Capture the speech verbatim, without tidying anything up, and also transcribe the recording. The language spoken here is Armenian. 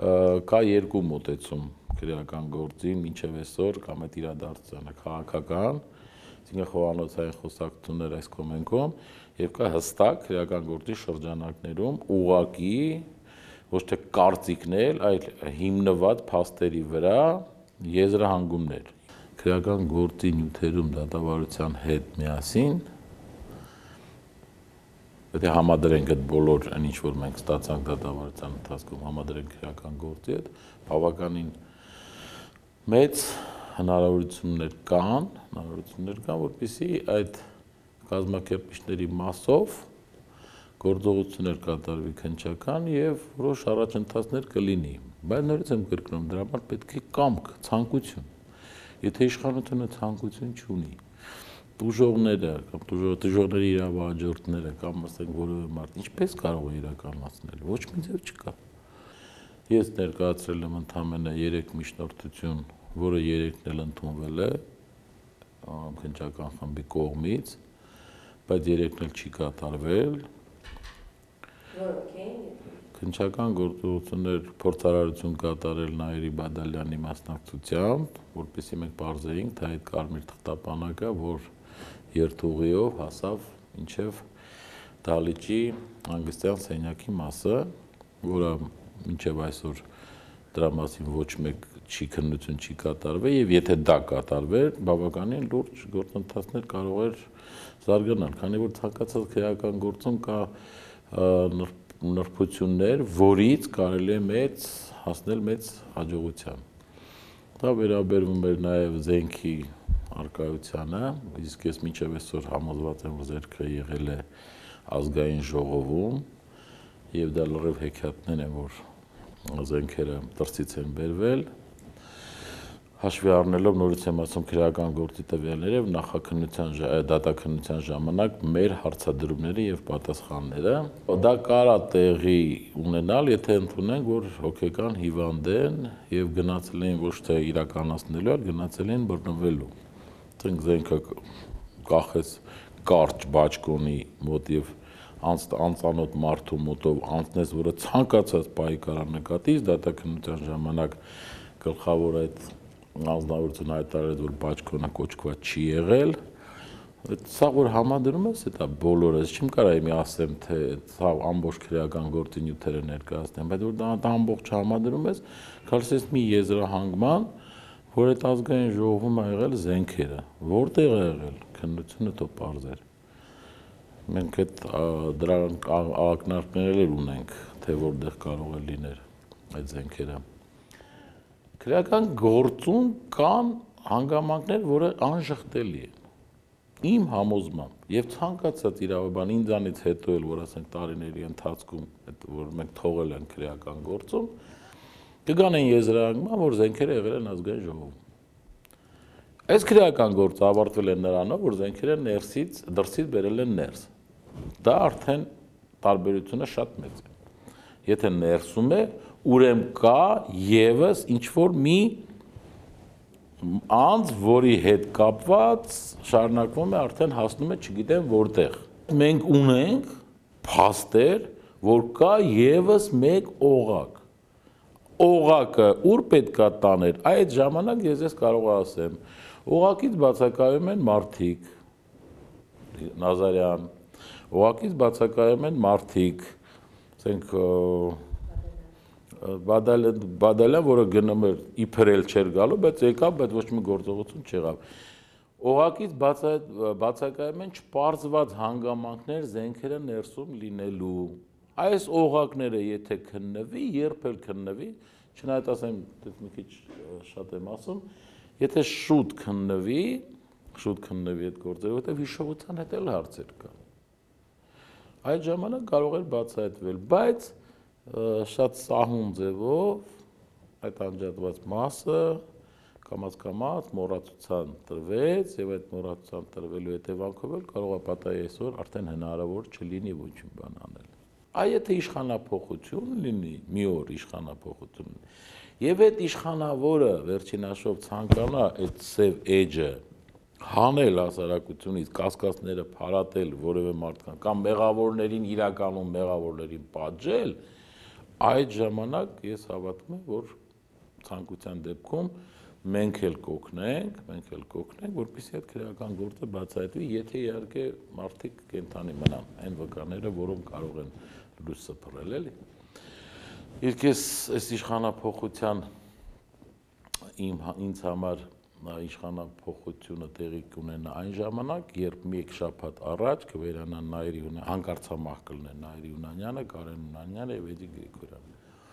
կա երկու մոտեցում քրեական գործին մինչև այսօր կամ այդ իրադարձությանը քաղաքական, այսինքն խոհանոցային խոսակցություններ այս կոմենքում, եւ կա հստակ քրեական գործի շրջանակներում ուղղակի ոչ թե կարծիքներ, այլ հիմնված փաստերի վրա եզրահանգումներ։ Քրեական գործի նյութերում դատավարության հետ միասին եթե համադրենք այդ բոլոր այն ինչ որ մենք ստացանք դատավարության ընթացքում համադրենք քրեական գործի հետ, բավականին մեծ հնարավորություններ կան, հնարավորություններ կան, որպեսզի այդ կազմակերպիչների մասով գործողություններ կատարվի քննչական եւ որոշ առաջընթացներ կլինի։ Բայց նորից եմ կրկնում, դրա համար պետք է կամք, ցանկություն։ Եթե իշխանությունը ցանկություն չունի, տուժողները կամ տուժողների իրավահաջորդները կամ ասենք որևէ մարդ ինչպես կարող է իրականացնել, ոչ մի ձև չկա։ Ես ներկայացրել եմ ընդամենը երեք միջնորդություն, որը երեքն էլ ընդունվել է քննչական խմբի կողմից, բայց երեքն էլ չի կատարվել։ Քննչական գործողություններ փորձարարություն կատարել Նաիրի Բադալյանի մասնակցությամբ, որպեսզի մենք պարզեինք, թե այդ կարմիր թղթապանակը, որ երթուղիով հասավ մինչև դահլիճի հանգստյան սենյակի մասը, որը մինչև այսօր դրա մասին ոչ մեկ չի քննություն չի կատարվել, եւ եթե դա կատարվեր, բավականին լուրջ գործընթացներ կարող էր զարգանալ, քանի որ ցանկացած քրեական գործում կա նրբություններ, որից կարելի է մեծ հասնել մեծ հաջողության։ Դա վերաբերվում էր նաև զենքի արկայությանը, իսկ ես մինչև այսօր համոզված եմ, որ զենքը եղել է ազգային ժողովում, եւ դա լրիվ հեքիաթներ են, որ զենքերը դրսից են բերվել, հաշվի առնելով նորից եմ ասում քրեական գործի տվյալները եւ նախաքննության դատաքննության ժամանակ մեր հարցադրումները եւ պատասխանները, դա կարա տեղի ունենալ, եթե ընդունենք, որ հոգեկան հիվանդ են եւ գնացել են ոչ թե իրականացնելու, այլ գնացել են բռնվելու։ Ասենք զենքը կախեց կարճ բաճկոնի մոտ եւ անծանոթ մարդու մոտով անցնես, որը ցանկացած պահի կարա նկատի, դատաքննության ժամանակ գլխավոր այդ անձնավորությունը հայտարարեց, որ բաճկոնը կոչկված չի եղել, սա որ համադրում ես, դա բոլորը, չեմ կարող մի ասեմ, թե սա ամբողջ քրեական գործի նյութերը ներկայացնեմ, բայց որ դա ամբողջ համադրում ես, գալիս ես մի եզրահանգման, որ այդ ազգային ժողովում ա եղել զենքերը, որտեղ է եղել, քննությունը թող պարզեր։ Մենք այդ դրանք ակնարկներ ունենք, թե որտեղ կարող է լինել այդ զենքերը։ Քրեական գործում կան հանգամանքներ, որը անժխտելի են։ Իմ համոզմամբ եւ ցանկացած իրավաբան ինձանից հետո էլ, որ ասենք տարիների ընթացքում, որ մենք թողել ենք քրեական գործում, կգանեն եզրահանգման, որ զենքերը եղել են ազգային ժողովում։ Այս քրեական գործը ավարտվել է նրանով, որ զենքերը ներսից, դրսից բերել են ներս։ Դա արդեն տարբերությունը շատ մեծ է։ Եթե ներսում է, ուրեմն կա եւս ինչ-որ մի անձ, որի հետ կապված շարունակվում է, արդեն հասնում է չգիտեմ որտեղ։ Մենք ունենք փաստեր, որ կա եւս մեկ օղակ։ Օղակը ուր պետքա տաներ, այդ ժամանակ ես ես կարող ասեմ, օղակից բացակայում են մարդիկ, Նազարյան, օղակից բացակայում են մարդիկ, ասենք Բադալյան, որը գնում էր իբր էլ չէր գալու, բայց եկավ, բայց ոչ մի գործողություն չեղավ։ Օղակից բացակայում են չպարզված հանգամանքներ զենքերը ներսում լինելու։ Այս օղակները եթե քննվի, երբ էլ քննվի, չնայած ասեմ, մի քիչ շատ եմ ասում, եթե շուտ քննվի, շուտ քննվի այդ գործերը, որտեղ հիշողության հետ էլ հարցեր կան։ Այդ ժամանակ կարող էր բացահայտվել, բայց շատ սահուն ձևով այդ անջատված մասը կամաց-կամաց մոռացության տրվեց եւ այդ մոռացության տրվելու հետևանքով էլ կարող է պատահի այսօր արդեն հնարավոր չլինի ոչ մի բան անել։ Այ եթե իշխանափոխություն լինի, մի օր իշխանափոխություն եւ այդ իշխանավորը վերջին հաշվով ցանկանա այդ սև էջը հանել հասարակությունից, կասկածները փարատել որևէ մարդկան կամ մեղավորներին իրականում մեղավորներին պատժել, այդ ժամանակ ես հավատում եմ, որ ցանկության դեպքում մենք էլ կօգնենք, մենք էլ կօգնենք, որպեսզի այդ քրեական գործը բացահայտվի, եթե իհարկե մարդիկ կենթանի մնան, այն վկաները, որոնք կարող են լույս սփռել, էլի։ Իսկ ես այս իշխանափոխության իմ ինձ համար իշխանափոխությունը տեղի կունենա այն ժամանակ, երբ մեկ շաբաթ առաջ կվերանան Նայիրի հանկարծամահ կլինեն Նայիրի Յունանյանը, Կարեն Յունանյանը եւ Էդիկ Գրիգորյանը։